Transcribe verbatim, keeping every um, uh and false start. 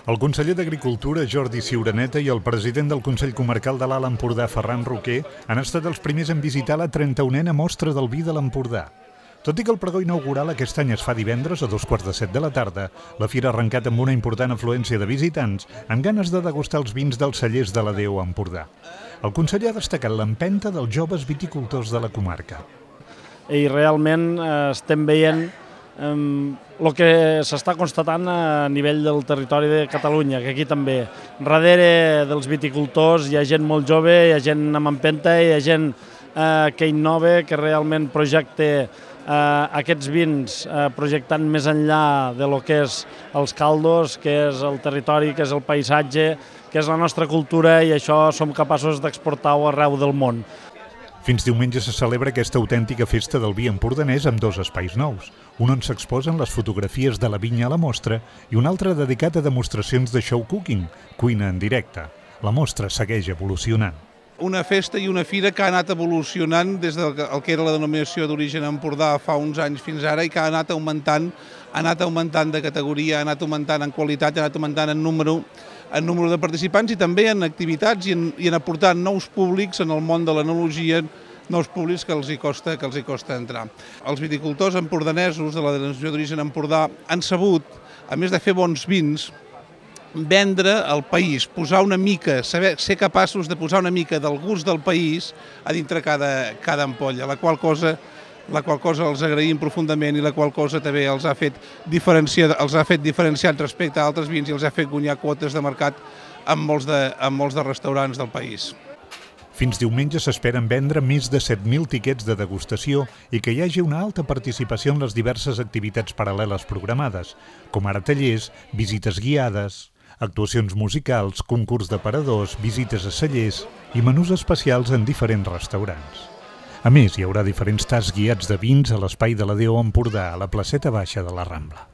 El conseller d'Agricultura, Jordi Ciuraneta, i el president del Consell Comarcal de l'Alt Empordà, Ferran Roquer, han estat els primers en visitar la trenta-unena mostra del vi de l'Empordà. Tot i que el pregó inaugural aquest any es fa divendres a dos quarts de set de la tarda, la fira ha arrencat amb una important afluència de visitants amb ganes de degustar els vins dels cellers de la D O Empordà. El conseller ha destacat l'empenta dels joves viticultors de la comarca. I realment eh, estem veient el que s'està constatant a nivell del territori de Catalunya, que aquí també. Darrere dels viticultors hi ha gent molt jove, hi ha gent amb empenta, hi ha gent eh, que innova, que realment projecta eh, aquests vins eh, projectant més enllà de lo que és els caldos, que és el territori, que és el paisatge, que és la nostra cultura, i això som capaços d'exportar-ho arreu del món. Fins diumenge se celebra aquesta autèntica festa del vi empordanès amb dos espais nous, un on s'exposen les fotografies de la vinya a la mostra i un altre dedicat a demostracions de show cooking, cuina en directe. La mostra segueix evolucionant. Una festa i una fira que ha anat evolucionant des del que era la denominació d'origen Empordà fa uns anys fins ara i que ha anat augmentant, ha anat augmentant de categoria, ha anat augmentant en qualitat, ha anat augmentant en número, en número de participants i també en activitats i en, i en aportar nous públics en el món de l'enologia, nous públics que els hi costa, que els hi costa entrar. Els viticultors empordanesos de la denominació d'origen Empordà han sabut, a més de fer bons vins, vendre al país, posar una mica, saber, ser capaços de posar una mica del gust del país a dintre cada, cada ampolla, la qual cosa la qual cosa els agraïm profundament i la qual cosa també els ha fet diferenciar, els ha fet diferenciats respecte a altres vins i els ha fet guanyar quotes de mercat amb molts de, amb molts de restaurants del país. Fins diumenge s'esperen vendre més de set mil tiquets de degustació i que hi hagi una alta participació en les diverses activitats paral·leles programades, com ara tallers, visites guiades, actuacions musicals, concurs d'aparadors, visites a cellers i menús especials en diferents restaurants. A més, hi haurà diferents tasts guiats de vins a l'espai de la D O Empordà, a la placeta baixa de la Rambla.